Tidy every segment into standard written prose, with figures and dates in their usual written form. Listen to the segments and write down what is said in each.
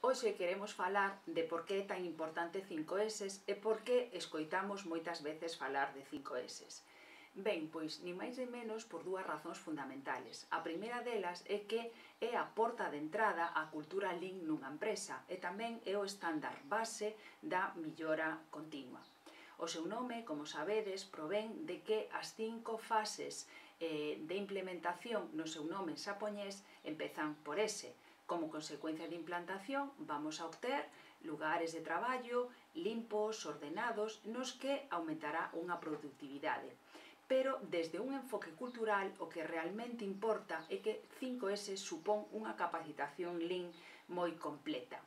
Hoxe queremos falar de por que é tan importante 5S e por que escoitamos moitas veces falar de 5S. Ben, pois, ni máis ni menos por dúas razóns fundamentales. A primeira delas é que é a porta de entrada á cultura Lean nunha empresa e tamén é o estándar base da millora continua. O seu nome, como sabedes, provén de que as 5 fases de implementación no seu nome en xaponés empezan por S. Como consecuencia de implantación, vamos a obter lugares de traballo limpos, ordenados, nos que aumentará unha productividade. Pero desde un enfoque cultural, o que realmente importa é que 5S supón unha capacitación Lean moi completa,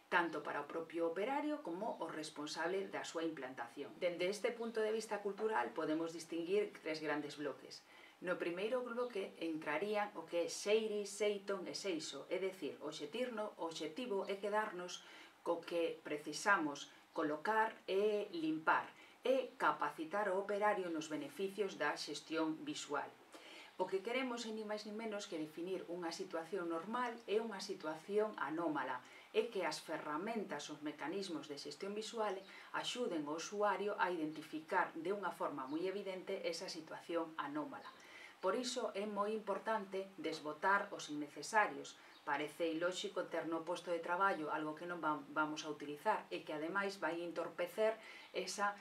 tanto para o propio operario como o responsable da súa implantación. Dende este punto de vista cultural podemos distinguir tres grandes bloques. No primeiro bloque entrarían o que é Seiri, Seiton e Seiso, é dicir, o obxectivo é quedarnos co que precisamos colocar e limpar e capacitar o operario nos beneficios da xestión visual. O que queremos é ni máis ni menos que definir unha situación normal e unha situación anómala, é que as ferramentas, os mecanismos de xestión visual axuden ao usuario a identificar de unha forma moi evidente esa situación anómala. Por iso é moi importante desbotar os innecesarios. Parece ilóxico ter no posto de traballo algo que non vamos a utilizar e que ademais vai entorpecer esa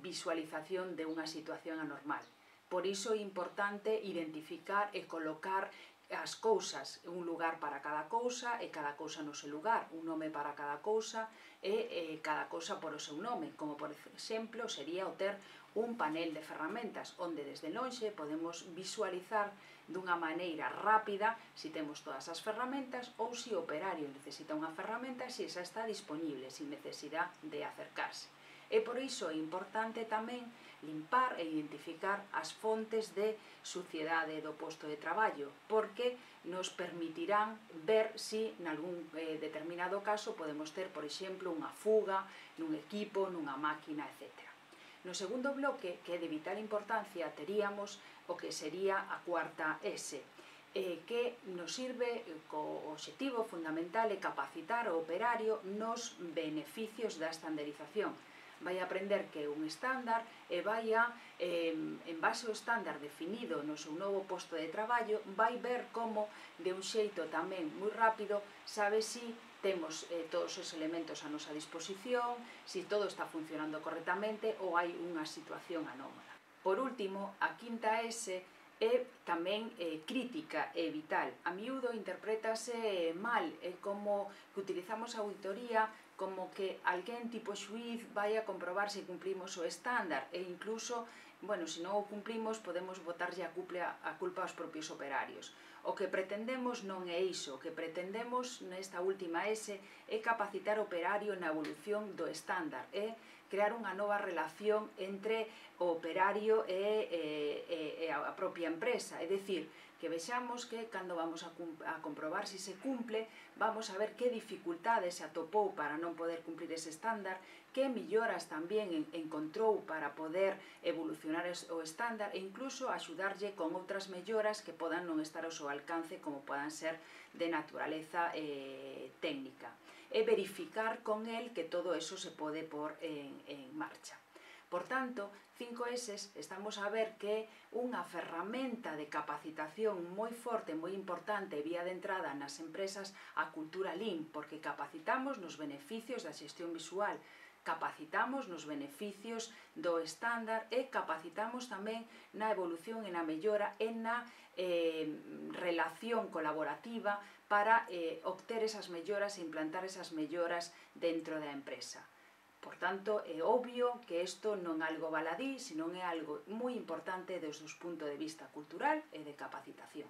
visualización de unha situación anormal. Por iso é importante identificar e colocar as cousas, un lugar para cada cousa e cada cousa no seu lugar, un nome para cada cousa e cada cousa por o seu nome, como por exemplo sería o ter un panel de ferramentas onde desde lonxe podemos visualizar dunha maneira rápida se temos todas as ferramentas ou se o operario necesita unha ferramenta se esa está disponible, sin necesidade de acercarse. E por iso é importante tamén limpar e identificar as fontes de suciedade do posto de traballo, porque nos permitirán ver se nalgún determinado caso podemos ter, por exemplo, unha fuga nun equipo, nunha máquina, etc. No segundo bloque, que é de vital importancia, teríamos o que sería a cuarta S, que nos sirve co obxectivo fundamental de capacitar o operario nos beneficios da estandarización. Vai aprender que é un estándar e vai en base ao estándar definido no seu novo posto de traballo, vai ver como, de un xeito tamén moi rápido, sabe se temos todos os elementos a nosa disposición, se todo está funcionando correctamente ou hai unha situación anómala. Por último, a quinta S é tamén crítica e vital. A miúdo interprétase mal, é como que utilizamos a auditoría como que alguén tipo xuíz vai a comprobar se cumplimos o estándar e incluso, bueno, se non o cumplimos podemos botarlle a culpa aos propios operarios. O que pretendemos non é iso, o que pretendemos nesta última S é capacitar o operario na evolución do estándar, é crear unha nova relación entre o operario e a propia empresa, é dicir, que vexamos que cando vamos a comprobar se se cumple, vamos a ver que dificultades se atopou para non poder cumplir ese estándar, que melloras tamén encontrou para poder evolucionar o estándar e incluso axudarlle con outras melloras que podan non estar ao seu alcance, como podan ser de naturaleza técnica. E verificar con el que todo eso se pode pôr en marcha. Por tanto, 5S estamos a ver que é unha ferramenta de capacitación moi forte, moi importante, vía de entrada nas empresas a cultura Lean, porque capacitamos nos beneficios da xestión visual, capacitamos nos beneficios do estándar e capacitamos tamén na evolución e na mellora e na relación colaborativa para obter esas melloras e implantar esas melloras dentro da empresa. Por tanto, é obvio que isto non é algo baladí, senón é algo moi importante desde o punto de vista cultural e de capacitación.